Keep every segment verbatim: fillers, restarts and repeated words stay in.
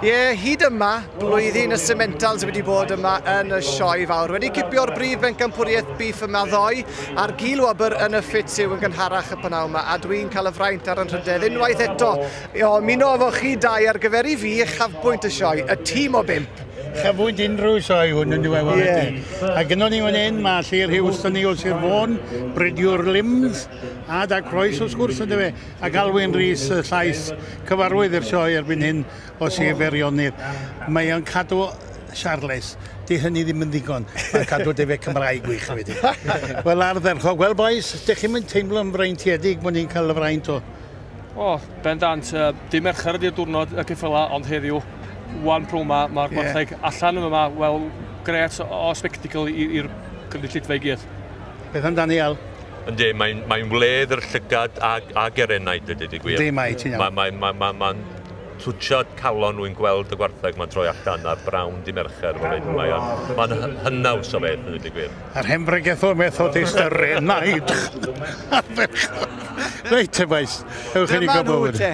Ie, yeah, hyd yma, blwyddyn y Simmentals wedi bod yma yn y sioe fawr. Wedi cipio'r brif bencampwriaeth beef yma ddoe, a'r gilwobr yn y ffit yw yn gynharach y pnawn yma, a dwi'n cael y fraint ar yn rhydedd unwaith eto o ymuno efo chi dau ar gyfer i fi uchafbwynt y sioe, y tîm o bump. Chafwyd unrhyw sioe hwn yn diwedd. Ie. A gynnon ni fan hyn, mae Llyr Hughes ni o Sir Fôn, Bridiwr Lims, a da Croes wrth gwrs yn dyfe, ac Alwyn Rhys y llais cyfarwydd i'r sioe erbyn hyn o Sir Feirionnydd. Mae o'n cadw Charles, di hynny ddim yn ddigon. Mae'n cadw defaid Cymraeg gwych wedi. Wel, ardderchog. Wel, boys, dych chi'n mynd teimlo yn freintiedig bod ni'n cael y fraint o? O, bendant, uh, dim Mercher ydy'r diwrnod y ceffyla, ond heddiw, wan pro ma, mae'r Ie. gwartheg allan yma, wel, gret o, o spectacle i'r gynulleidfa i gyd. Beth amdani, Al? Yndi, mae'n mae wledd yr llygad ag, ag yr enaid, ydy, di gwir. Yndi, mae, ti'n iawn. Mae'n mae, mae, mae, mae twtsio calon nhw'n gweld y gwartheg mae'n troi allan ar brawn di Mercher fel hyn. Mae'n mae hynaws o beth, yn dweud gwir. A'r hen bregethwr Methodist yr enaid. Reit, te, boys. Ewch i ni Dyma gael nhw bywyd. te,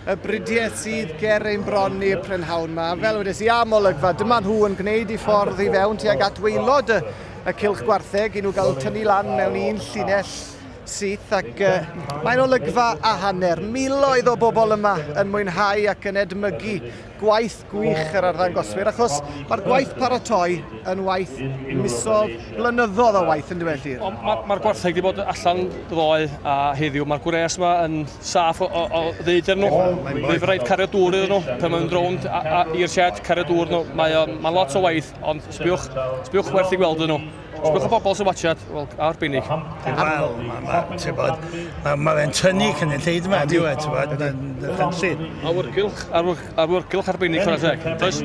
y bridiau sydd ger ein bron ni y prynhawn ma. Fel wedes i am olygfa, dyma nhw yn gwneud i ffordd i fewn tuag at waelod y, y cylch gwartheg i nhw gael tynnu lan mewn un llinell syth ac uh, mae'n olygfa a hanner. Miloedd o bobl yma yn mwynhau ac yn edmygu gwaith gwych yr arddangoswyr achos mae'r gwaith paratoi yn waith misoedd, blynyddoedd o waith yn dweud Llyr. Mae'r ma gwartheg wedi bod allan ddoe a heddiw. Mae'r gwres yma yn saff o, o, o ddeud iddyn nhw. Bydd rhaid cario dŵr iddyn nhw pan maen nhw'n rownd i'r shed, cario dŵr nhw. Mae o, mae lot o waith, ond sbiwch, sbiwch werth i gweld nhw. Sbiwch y bobl sy'n watchad, wel, arbennig. Wel, ma, ma, ti'n bod, ma, ma fe'n tynnu cynulleidfa, yw e, ti'n bod, yn ddychrynllyd. Awyrgylch, awyrgylch arbennig, chwarae teg. Does?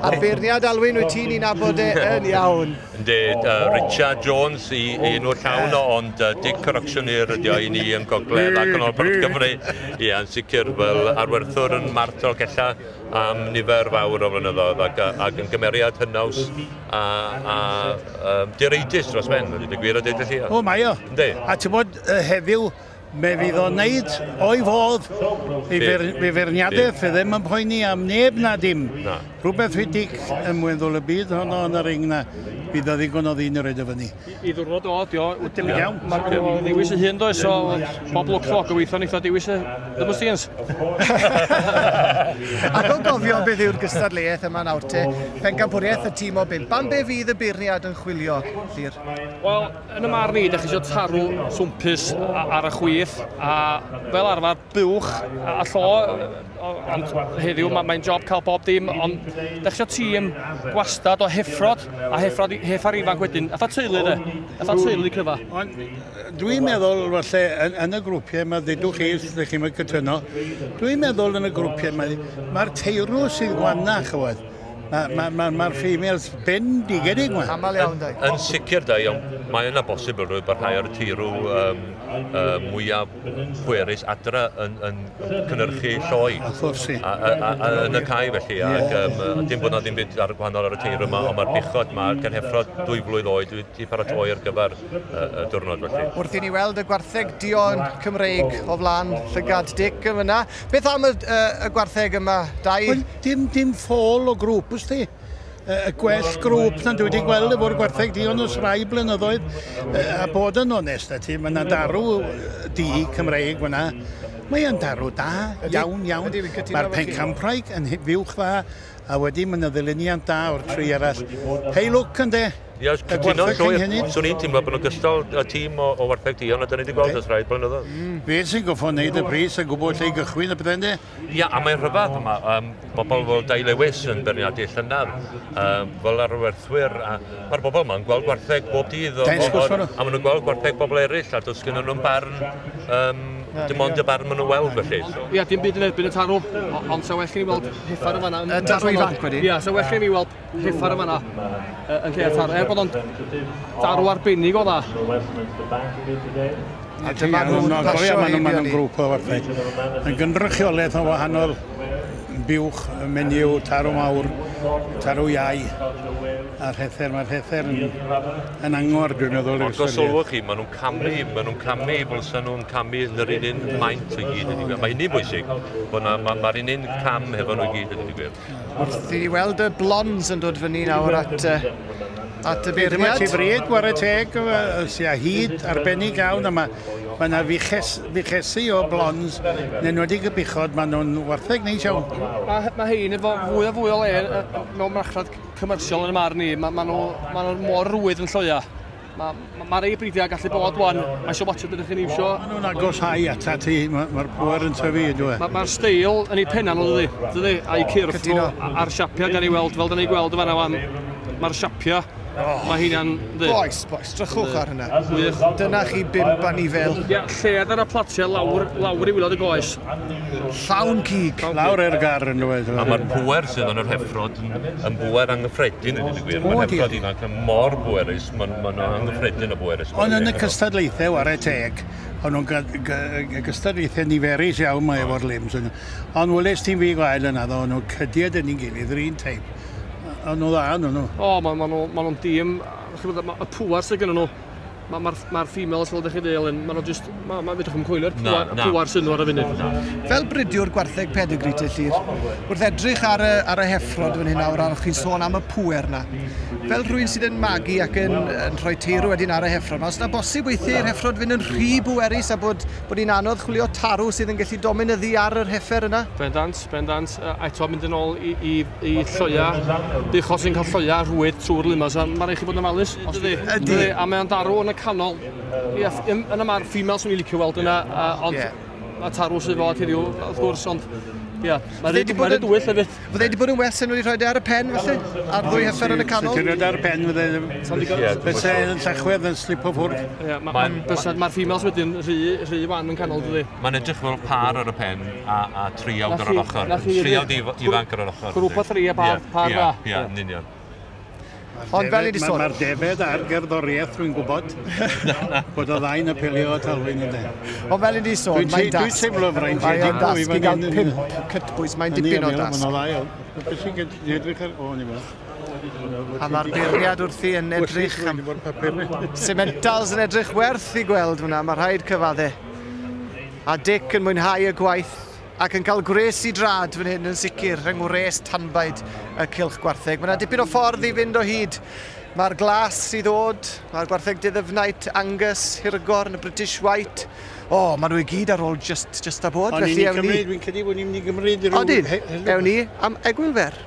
A'r beirniad Alwyn, wyt ti'n ei nabod e yn iawn. Yndi, uh, Richard Jones i, i enw llawn o, ond uh, Dick yr Auctioneer ydi o i ni yn Gogledd ac yn Olbert Cymru. Ie, yn sicr fel arwerthwr yn Mart Dolgella am nifer fawr o flynyddoedd ac, ac yn gymeriad hynaws a, a um, direidus dros ben, ydy gwir o dweud y llia. O, mae o. Yndi. A ti'n bod, uh, heddiw, me fydd o'n neud o'i fodd i Bydd. fer, i feirniadaeth, fe ddim yn poeni am neb na dim. Na. Rhywbeth fydd Dic yn meddwl y byd honno yn y ring na, bydd o ddigon o ddyn i roed o fyny. I ddwrnod o, dio. Dim iawn. Mae gen fo ddewis ei hun, does, so bob lwc fo, gobeithio neith o dewis y limousines. Ac o gofio beth yw'r gystadleuaeth yma nawr te, pencampwriaeth y tîm o bump. Am be fydd y beirniad yn chwilio, Llyr? Wel, yn y marn i, da chi eisiau tarw swmpus a- ar y chwith, a fel arfer buwch a, a llo, o- ond heddiw ma- mae'n job cael bob dim, ond da chi eisiau tîm gwastad o heffrod, a heffrod, heffar ifanc wedyn, atha teulu de, atha teulu cryfa. Ond dwi'n meddwl, falle, yn, yn y grwpiau yma, ddedwch chi, os ydych chi'n cytuno, dwi'n meddwl yn y grwpiau yma, mae'r teirw sydd gwanach, chywed. Mae'r ma, ma, ma females bendigedig yma. Amal iawn, dau. Yn sicr da, iawn, mae yna bosibilrwydd bod rhai o'r teirw um, uh, mwyaf pwerus adra yn, yn cynhyrchu lloi. Wrth gwrs i. A, a, a, a, yn y cae felly, ac um, dim bod na ddim byd ar gwahanol ar y teirw yma, ond mae'r buchod, mae'r genheffrod dwy flwydd oed wedi paratoi ar gyfer uh, y diwrnod felly. Wrth i ni weld y gwartheg duon Cymreig o flaen llygad Dic yn fyna. Beth am y, y, y gwartheg yma, Dai? Wel, dim, dim ffôl o grŵp, wst ti. Y y gwell grŵp na dwi wedi gweld efo'r gwartheg duon ers rai blynyddoedd. Yy, A bod yn onest â ti, mae yna darw yy, du Cymreig fyna. Mae yn darw da, Ydi, iawn, iawn. ydi, fi'n cytuno Mae'r efo chi. pencampwraig yn hy- fuwch dda, a wedyn mae yna ddilynniant da o'r tri arall. Hei lwc ynde? Ie, Y cytuno gwartheg llwyr. cynhenid. Swn i'n teimlo bod nhw'n gystal y tîm o, o wartheg duon a dyn ni wedi gweld ers rai blynyddoedd. Fe sy'n goffo wneud y pris a gwybod lle i gychwyn y pethau ynde? Ia, a mae'n rhyfedd yma, um, bobl fel Dai Lewis yn beirniadu llynedd, um, fel arwerthwyr, a mae'r bobl yma'n gweld gwartheg bob dydd, o, Dain o, sgwrs o, efo nhw. a maen nhw'n gweld gwartheg bobl eraill, a does gen nhw'n barn, um, dim ond y barn maen nhw'n weld felly. So. Ia, dim byd yn erbyn y tarw, o- ond sa well gen i weld heffar yn fanna. Y tarw ifanc wedyn? Ia, sa well gen i weld heffar yn fanna yy, yn lle y tarw. Er bod o'n darw arbennig o dda. A dyma nhw'n No, pasio cofio, maen nhw- maen heibio nhw'n ni. grŵp o wartheg. Yn gynrychiolaeth o wahanol buwch, menyw, tarw mawr, tarw iau. A'r rhether, mae'r rhether yn, yn angor, dwi'n meddwl. Ond os sylwch chi, maen nhw'n camu, maen nhw'n camu fel sy'n nhw'n camu yn yr un un maint i gyd. Mae hynny'n bwysig, bod mae'r ma, ma un un cam hefo nhw i gyd ydy gwir. Wrth i ni weld y blonds yn dod fyny nawr at, at y beirniad. Dyma ti bryd, ware teg, sy'n a hyd arbennig iawn, a mae ma yna fuches, fuchesi o blonds, yn enwedig y buchod, maen nhw'n wartheg neis iawn. Mae ma hein efo fwy a fwy o le mewn marchnad commercial yn y marn i, mae ma nhw, ma nhw mor rwydd yn lloia. Mae ma, ma rei bridiau gallu bod wan, mae eisiau watcha dydych chi'n iwsio. Maen nhw'n agoshau atat ti, mae'r ma pŵer yn tyfu, ydw e. Mae'r ma steil yn ei penna nhw, dydy, dydy, a'i cyrff nhw, a'r siapiau gan ei weld, fel da ni'n gweld y fanna wan, mae'r siapiau, oh. Mae hynna'n... Boes, boes, drychwch ar hynna. Wych. Dyna chi bump anifel. Ia, lled ar y platiau lawr, lawr i wylod y goes. Llawn cig. Lawr i'r gar yn dweud. A mae'r pŵer sydd yn yr heffrod yn, yn bŵer anghyffredin, yn dweud gwir. Mae'r heffrod ifanc yn mor bwerus, mae'n ma anghyffredin o bwerus. Ond yn y cystadlaethau ware teg, o'n nhw'n gystadlaethau niferus iawn mae efo'r limbs. Ond weles ti'n fi gwael yna, o'n nhw'n cydiad yn ei gilydd, yr un teip. O'n nhw dda, o'n nhw. O, maen ma nhw, ma nhw'n dîm, y pŵar sydd gynnon nhw, mae'r ma, ma females, fel ydych chi ddeud, maen nhw just, ma, ma, fedrwch chi'm coelio'r pŵar, pŵar sydd nhw ar y funud. Fel bridiwr gwartheg pedigree te, Llyr, wrth edrych ar y, ar y heffrod fan hyn nawr, a chi'n sôn am y pŵer na, fel rhywun sydd yn magu ac yn, yn rhoi teirw wedyn ar y heffrod, oes na bosib weithiau i'r heffrod fynd yn rhy bwerus a bod, bod hi'n anodd chwilio tarw sydd yn gallu dominyddu ar yr heffer yna? Bendant, bendant. A eto mynd yn ôl i, i, i lloia, buchod sy'n cael lloia rhwyd trwy'r limas, a mae'n rhaid chi bod yn ofalus. Ydy. Ydy. A mae'n darw yn y canol. Ie, yna mae'r female swn i'n licio weld yna, ond yeah. Mae tarw sydd fod heddiw, wrth gwrs, ond ie, mae'n rhy dywyll hefyd. Fydde wedi bod yn well sy'n wedi rhoi e ar y pen, felly? Ar ddwy heffer yn y canol? Sy'n rhoi ar y pen, fydde... Fyse yn llechwedd yn slipo ffwrdd. Ie, mae'r females wedyn rhy, rhy wan yn canol, dydy. Mae'n edrych fel par ar y pen a, a triawd ar yr ochr. Triawd ifanc ar yr ochr. Grŵp o thri a par, par da. Ie, yn union. Ond fel i di sôn... Mae'r defed a'r gerddoriaeth, rwy'n gwybod, bod o ddau'n apelio at Alwyn ynddo. Ond fel i di sôn, mae'n dasg. Dwi'n teimlo fraint. Mae'n dasg i gael pump cytbwys, mae'n dipyn o dasg. Mae'n ddau. Beth sy'n edrych ar... O, ni fel. A mae'r beirniad wrthi yn edrych am... Simmentals yn edrych werth i gweld hwnna, mae rhaid cyfadde. A Dic yn mwynhau y gwaith ac yn cael gwres i drad fan hyn yn sicr, rhwng wres tanbaid y cylch gwartheg. Mae yna dipyn o ffordd i fynd o hyd. Mae'r glas i ddod, mae'r gwartheg Diddyfnait, Angus, Hirgorn, British White. O, maen nhw i gyd ar ôl just, just a bod. O'n i'n cymryd, dwi'n credu bod ni'n mynd i gymryd... Odyn, ewn ni am egwyl fer.